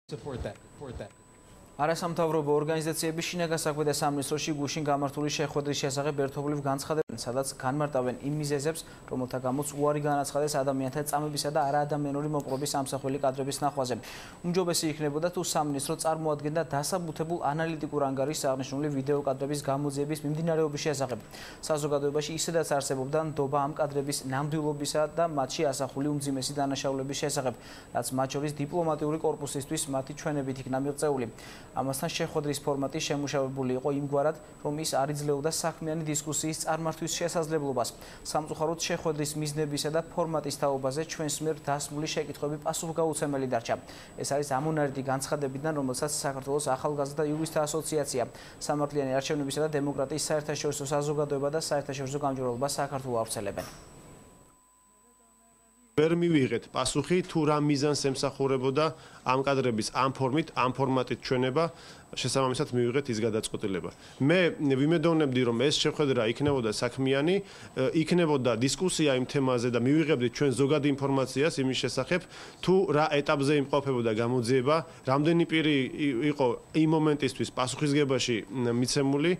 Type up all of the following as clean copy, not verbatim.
Support that. არასამთავრობო ორგანიზაციების შინაგან საქმეთა სამინისტროში გუშინ გამართული შეხვედრის შესახებ ერთობლივ განცხადებენ, სადაც განმარტავენ იმ მიზეზებს, რომელთა გამოც უარი განაცხადეს ადამიანთა წამებისა და არაადამიანური მოპყრობის ამსახველი კადრების ნახვაზე. უმჯობესი იქნებოდა თუ სამინისტრო წარმოადგენდა დასაბუთებულ ანალიტიკურ ანგარიშს აღნიშნული ვიდეო კადრების გამოძიების მიმდინარეობის შესახებ. საზოგადოებაში ისედაც არსებობდა ნდობა ამ კადრების ნამდვილობისა და მათში ასახული უმძიმესი დანაშაულების შესახებ, რაც მათ შორის დიპლომატიური კორპუსისთვის მათი ჩვენებით იქნა მიღწეული. ამასთან შეხვედრის ფორმატი შემუშავებული იყო იმგვარად, რომ ის არ იძლეოდა საქმიანი დისკუსიის წარმართვის შესაძლებლობას. სამწუხაროდ შეხვედრის მიზნებისა და ფორმატის თაობაზე ჩვენს მიერ დასმული შეკითხვები პასუხგაუცემელი დარჩა. ეს არის ამონარიდი განცხადებიდან, რომელსაც საქართველოს ახალგაზრდა იურისტთა ასოციაცია, სამართლიანი არჩევნებისა და დემოკრატიის საერთაშორისო საზოგადოება და საერთაშორისო გამჭვირვალობა საქართველოს ავრცელებენ. ვერ მივიღეთ პასუხი თუ რა მიზანს ემსახურებოდა ამ კადრების ამ ფორმატით ჩვენება, შესაბამისად მივიღეთ ის გადაწყვეტილება. მე ვიმედოვნებდი, რომ ეს შეხვედრა იქნებოდა საქმიანი, იქნებოდა დისკუსია იმ თემაზე და მივიღებდით ჩვენ ზოგად ინფორმაციას იმის შესახებ, თუ რა ეტაპზე იმყოფებოდა გამოძიება, რამდენი პირი იყო იმ მომენტისთვის პასუხისგებაში მიცემული.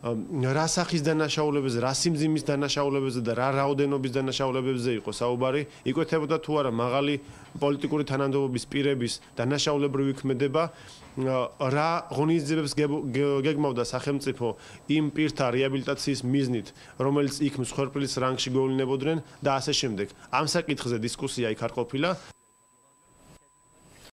რა სახის დანაშაულებებზე, რა სიმძიმის დანაშაულებებზე და რა რაოდენობის დანაშაულებებზე იყო საუბარი, იკვეთებოდა თუ არა მაღალი პოლიტიკური თანამდებობის პირების დანაშაულებრივი ქმედება, რა ღონისძიებებს გეგმავდა სახელმწიფო იმ პირთა რეაბილიტაციის მიზნით, რომელიც იქ მსხვერპლის რანგში გვევლინებოდნენ და ასე შემდეგ. ამ საკითხზე დისკუსია იქ არ ყოფილა.